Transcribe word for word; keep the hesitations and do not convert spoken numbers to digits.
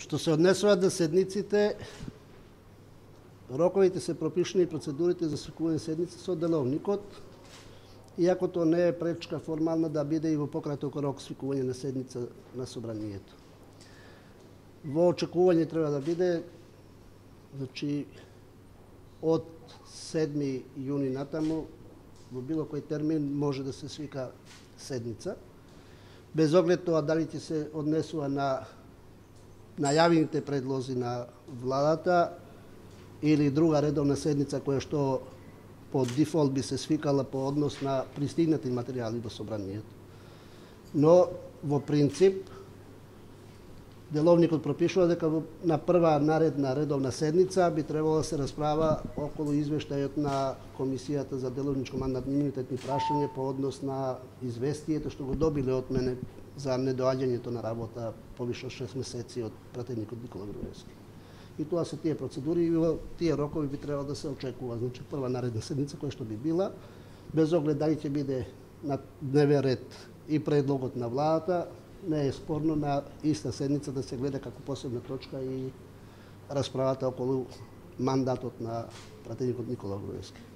Што се однесува до седниците, роковите се пропишани и процедурите за свикување седници со деловникот, иако тоа не е пречка формална да биде и во пократок рок свикување на седница на собранието. Во очекување треба да биде, значи, од седми јуни натаму, во било кој термин може да се свика седница, без оглед тоа дали ќе се однесува на најавените предлози на владата или друга редовна седница која што по дефолт би се свикала по однос на пристигнати материјали до собранието. Но во принцип деловникот пропишува дека на прва наредна редовна седница би требало да се расправа околу извештајот на Комисијата за деловничко мандатни имунитетни прашања по однос на известието што го добиле од мене за недоаѓањето на работа повише од шест месеци од пратеникот Никола Груевски. И тоа се тие процедури и во тие рокови би требало да се очекува, значи прва наредна седница која што би била, без оглед дали ќе биде на дневен ред и предлогот на владата, не е спорно на иста седница да се гледа како посебна точка и расправата околу мандатот на пратеникот Никола Груевски.